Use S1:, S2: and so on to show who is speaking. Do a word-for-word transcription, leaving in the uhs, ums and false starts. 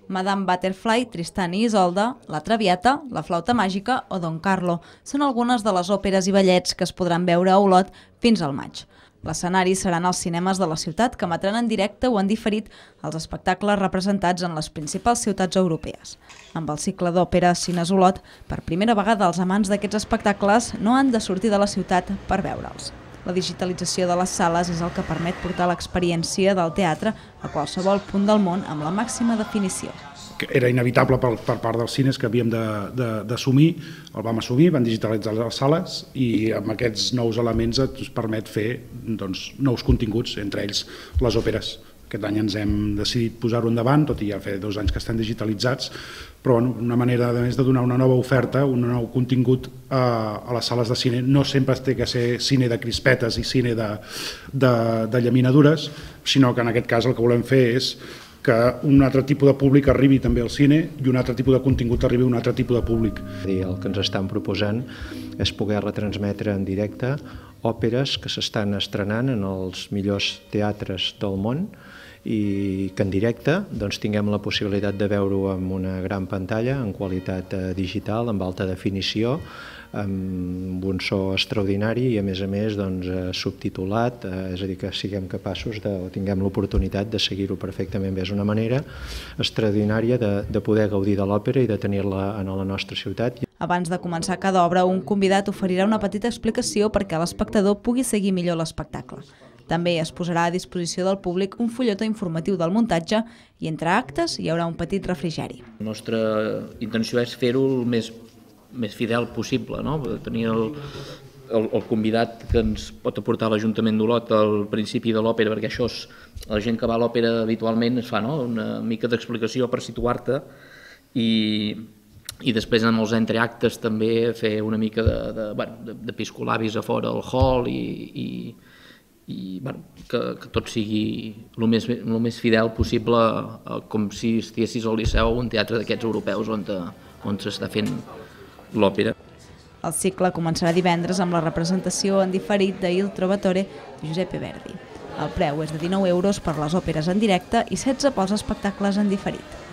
S1: Madame Butterfly, Tristan i Isolde, La Traviata, La Flauta Màgica o Don Carlo són algunes de les òperes i ballets que es podran veure a Olot fins al maig. L'escenari seran els cinemes de la ciutat que emetran en directe o en diferit els espectacles representats en les principals ciutats europees. Amb el cicle d'òpera Cines Olot, per primera vegada els amants d'aquests espectacles no han de sortir de la ciutat per veure'ls. La digitalització de les sales és el que permet portar l'experiència del teatre a qualsevol punt del món amb la màxima definició.
S2: Era inevitable per, per part dels cines que havíem d'assumir, el vam assumir, van digitalitzar les sales i amb aquests nous elements ens permet fer doncs, nous continguts, entre ells les òperes. Aquest any ens hem decidit posar-ho endavant, tot i ja fa dos anys que estan digitalitzats, però bueno, una manera a més de donar una nova oferta, un nou contingut a, a les sales de cine. No sempre té que ser cine de crispetes i cine de, de, de llaminadures, sinó que en aquest cas el que volem fer és que un altre tipus de públic arribi també al cine i un altre tipus de contingut arribi a un altre tipus de públic.
S3: El que ens estan proposant és poder retransmetre en directe òperes que s'estan estrenant en els millors teatres del món i que en directe doncs, tinguem la possibilitat de veure-ho amb una gran pantalla, en qualitat digital, amb alta definició, amb un so extraordinari i a més a més doncs, subtitulat, és a dir, que siguem capaços de, o tinguem l'oportunitat de seguir-ho perfectament bé. És una manera extraordinària de, de poder gaudir de l'òpera i de tenir-la a la nostra ciutat.
S1: Abans de començar cada obra, un convidat oferirà una petita explicació perquè l'espectador pugui seguir millor l'espectacle. També es posarà a disposició del públic un fulletó informatiu del muntatge i entre actes hi haurà un petit refrigeri.
S4: La nostra intenció és fer-ho el més, més fidel possible, no? Tenir el, el, el convidat que ens pot aportar l'Ajuntament d'Olot al principi de l'òpera, perquè això és, la gent que va a l'òpera habitualment es fa, no? Una mica d'explicació per situar-te i, i després en els entreactes també fer una mica de, de, bueno, de, de piscolabis a fora al hall i, i i bueno, que, que tot sigui el més, el més fidel possible, com si estiguessis al Liceu o un teatre d'aquests europeus on, on s'està fent l'òpera.
S1: El cicle començarà divendres amb la representació en diferit de Il Trovatore de Giuseppe Verdi. El preu és de dinou euros per les òperes en directe i setze pels espectacles en diferit.